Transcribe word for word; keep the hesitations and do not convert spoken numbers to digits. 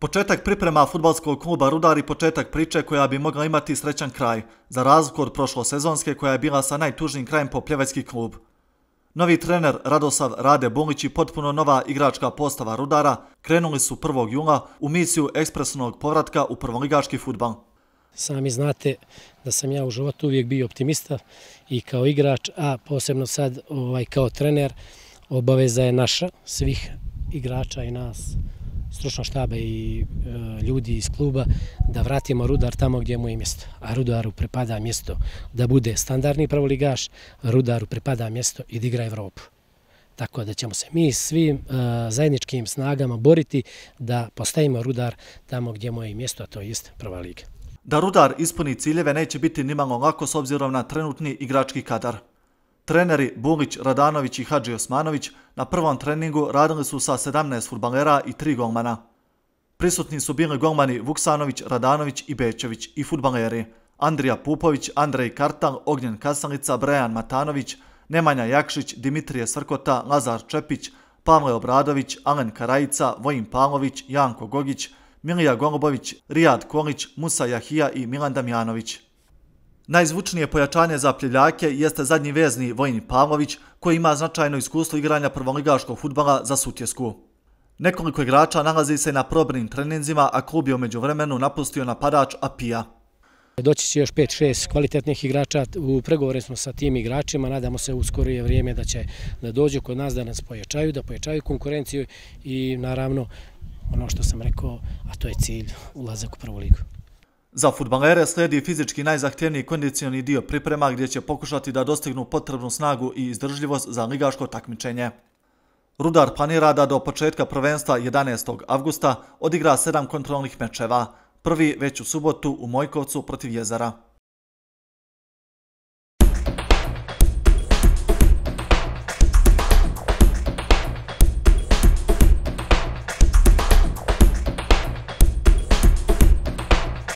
Početak priprema fudbalskog kluba Rudar i početak priče koja bi mogla imati srećan kraj, za razliku od prošlosezonske koja je bila sa najtužnijim krajem po pljevački klub. Novi trener Radosav Rade Bulić i potpuno nova igračka postava Rudara krenuli su prvog jula u misiju ekspresnog povratka u prvoligaški fudbal. Sami znate da sam ja u životu uvijek bio optimista i kao igrač, a posebno sad ovaj, kao trener. Obaveza je naša, svih igrača i nas, stručnog štaba i e, ljudi iz kluba, da vratimo Rudar tamo gdje mu je mjesto. A Rudaru pripada mjesto da bude standardni prvoligaš, Rudaru pripada mjesto i da igra Evropu. Tako da ćemo se mi svim e, zajedničkim snagama boriti da postavimo Rudar tamo gdje mu je mjesto, a to je prva liga. Da Rudar ispuni ciljeve neće biti nimalo lako s obzirom na trenutni igrački kadar. Treneri Bulić, Radanović i Hadži Osmanović na prvom treningu radili su sa sedamnaest fudbalera i tri golmana. Prisutni su bili golmani Vuksanović, Radanović i Bečević i fudbaleri Andrija Pupović, Andrej Kartal, Ognjen Kasalica, Brejan Matanović, Nemanja Jakšić, Dimitrije Srkota, Lazar Čepić, Pavle Obradović, Alen Karajica, Vojin Pavlović, Janko Gogić, Milija Golubović, Rijad Kolić, Musa Jahija i Milan Damjanović. Najzvučnije pojačanje za Pljeljake jeste zadnji vezni Vojin Pavlović, koji ima značajno iskustvo igranja prvoligaškog fudbala za Sutjesku. Nekoliko igrača nalazi se na probnim treninzima, a klub je u međuvremenu napustio napadač Apija. Doći će još pet šest kvalitetnih igrača, u pregovore smo sa tim igračima, nadamo se u skorije vrijeme da će da dođu kod nas, da nas pojačaju, da pojačaju konkurenciju i naravno ono što sam rekao, a to je cilj, ulazak u prvu ligu. Za fudbalere slijedi fizički najzahtjevniji kondicioni dio priprema gdje će pokušati da dostignu potrebnu snagu i izdržljivost za ligaško takmičenje. Rudar planira da do početka prvenstva jedanaestog avgusta odigra sedam kontrolnih mečeva, prvi već u subotu u Mojkovcu protiv Jezera.